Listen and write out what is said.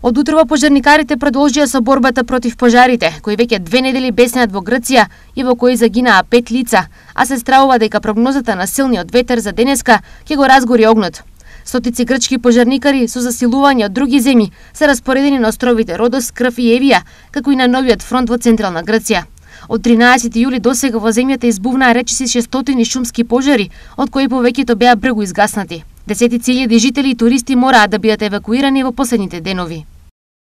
Од утрово пожарникарите продолжија со борбата против пожарите, кои веќе 2 недели беснеат во Грција и во кои загинаа 5 лица, а се стравува дека прогнозата на силниот ветер за денеска ќе го разгори огнот. Стотици грчки пожарникари со засилување од други земји се распоредени на островите Родос, Крф и Евија, како и на новиот фронт во централна Грција. Од 13 јули досега во земјата избувнаа речиси 600 шумски пожари, од кои повеќето беа бргу изгаснати. Десетици илјади жители и туристи мораа да бидат евакуирани во последните денови.